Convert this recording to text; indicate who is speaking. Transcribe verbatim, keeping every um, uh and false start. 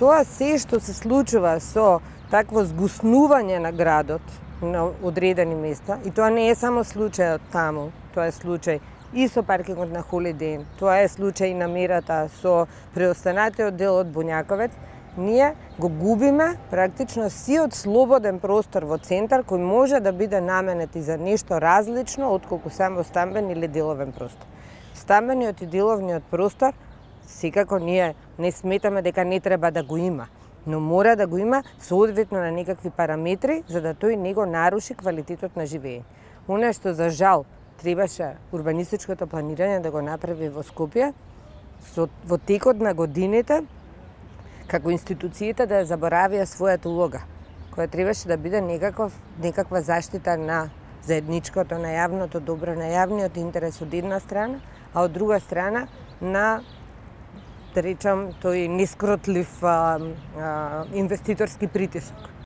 Speaker 1: тоа се што се случува со такво згуснување на градот на одредени места, и тоа не е само случајот таму, тоа е случај и со паркингот на Холидей, тоа е случај и на мерата со преостанатиот дел од Бунјаковец, ние го губиме практично сиот слободен простор во центар кој може да биде наменет и за нешто различно отколку само стамбен или деловен простор. Стамбениот и деловниот простор секако ние не сметаме дека не треба да го има, но мора да го има соодветно на некакви параметри за да тој не го наруши квалитетот на живење. Она што за жал требаше урбанистичкото планирање да го направи во Скопје, со, во текот на годините, како институциите да заборавија својата улога, која требаше да биде некаков, некаква заштита на заедничкото, на јавното добро, на јавниот интерес од една страна, а од друга страна на, да речам, тој нескротлив а, а, инвеститорски притисок.